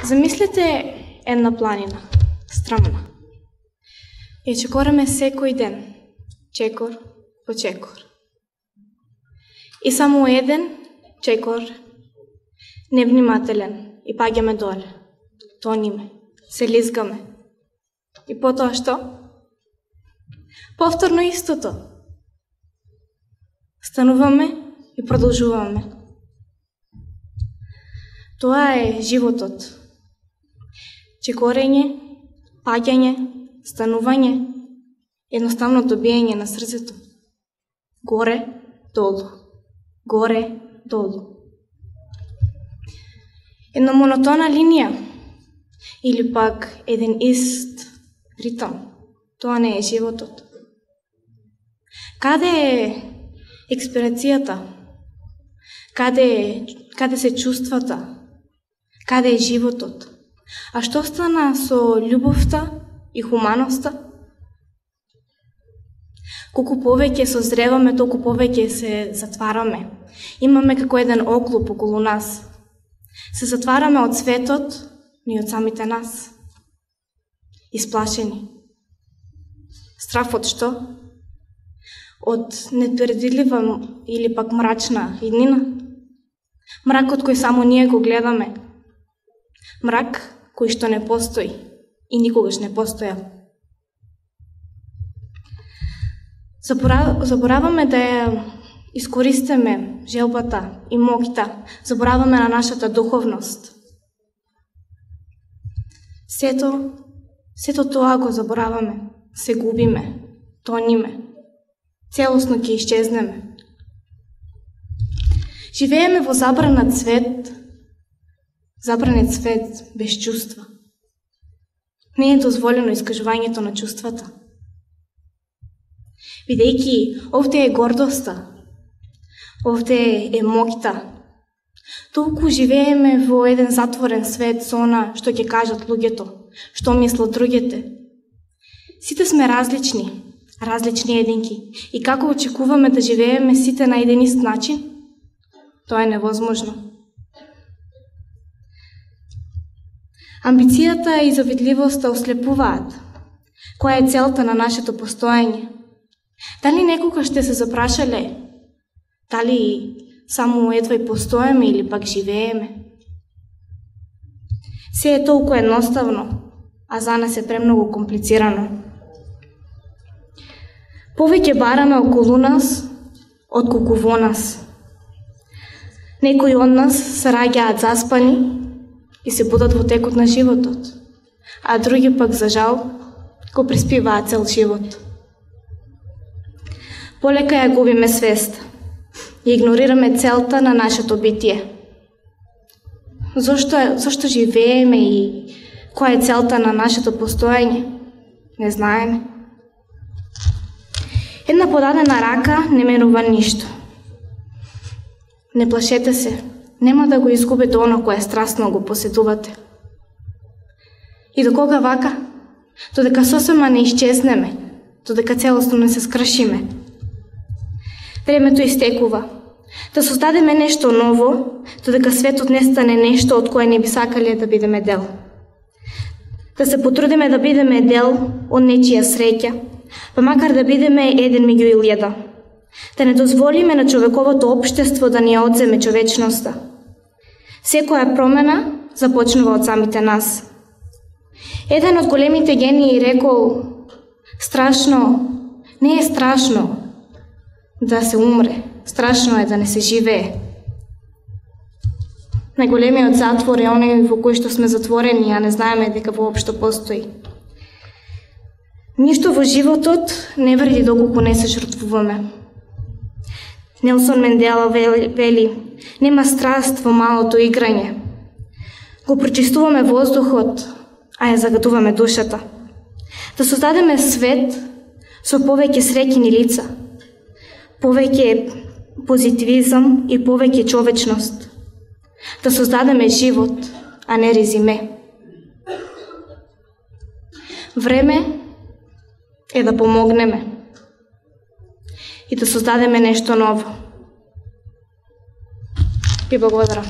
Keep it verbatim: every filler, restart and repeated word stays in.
Замислете една планина, стрмна. Ја чекораме секој ден, чекор по чекор. И само еден чекор, невнимателен, и паѓаме доле, тониме, се лизгаме. И потоа што? Повторно истото. Стануваме и продолжуваме. Тоа е животот. Чекорење, паѓање, станување, едноставно добиење на срцето. Горе, долу, горе, долу. Една монотона линија или пак еден ист ритам. Тоа не е животот. Каде е експириенцијата? Каде е, каде се чувствата? Каде е животот? А што стана со љубовта и хуманоста? Колку повеќе созреваме, толку повеќе се затвараме. Имаме како еден оклуп околу нас. Се затвараме од светот, но и од самите нас. Исплашени. Страф од што? Од непредвидлива или пак мрачна иднина. Мракот кој само ние го гледаме. Мрак кој што не постои и никогаш не постојал. Забораваме да ја искористиме желбата и моќта, забораваме на нашата духовност. Сето, сето тоа го забораваме, се губиме, тониме, целосно ќе исчезнеме. Живееме во забранат свет, забранет свет без чувства. Не е дозволено искажувањето на чувствата. Бидејќи овде е гордоста, овде е моќта, толку живееме во еден затворен свет со она што ќе кажат луѓето, што мислат другите. Сите сме различни, различни единки. И како очекуваме да живееме сите на еден ист начин? Тоа е невозможно. Амбицијата и завидливоста ослепуваат. Која е целта на нашето постоење? Дали некога ще се запрашале? Дали само едва и постоеме или пак живееме? Се е толку едноставно, а за нас е премногу комплицирано. Повеќе бараме околу нас, отколку во нас. Некои од нас се раѓаат заспани и се будат во текот на животот, а други пак, за жал, го преспиваат цел живот. Полека ја губиме свест и игнорираме целта на нашето битие. Зошто, зошто живееме и која е целта на нашето постоење? Не знаеме. Една подадена рака не менува ништо. Не плашете се, нема да го изгубите оно кое страстно го поседувате. И до кога вака? Додека сосема не исчезнеме, додека целосно не се скршиме. Времето истекува. Да создадеме нешто ново, додека светот не стане нешто од кое не би сакале да бидеме дел. Да се потрудиме да бидеме дел од нечија среќа, па макар да бидеме еден меѓу илјада. Да не дозволиме на човековото општество да ни ја одземе човечноста. Секоја промена започнува од самите нас. Еден од големите гении рекол: страшно, не е страшно да се умре, страшно е да не се живее. Најголемиот затвор е оној во кој што сме затворени, а не знаеме дека воопшто постои. Ништо во животот не вреди доколку не се жртвуваме. Нелсон Мендела вели: нема страст во малото играње. Го прочистуваме воздухот, а ја загадуваме душата. Да создадеме свет со повеќе среќни лица, повеќе позитивизам и повеќе човечност. Да создадеме живот, а не резиме. Време е да помогнеме и да создадеме нешто ново. Ви благодарам.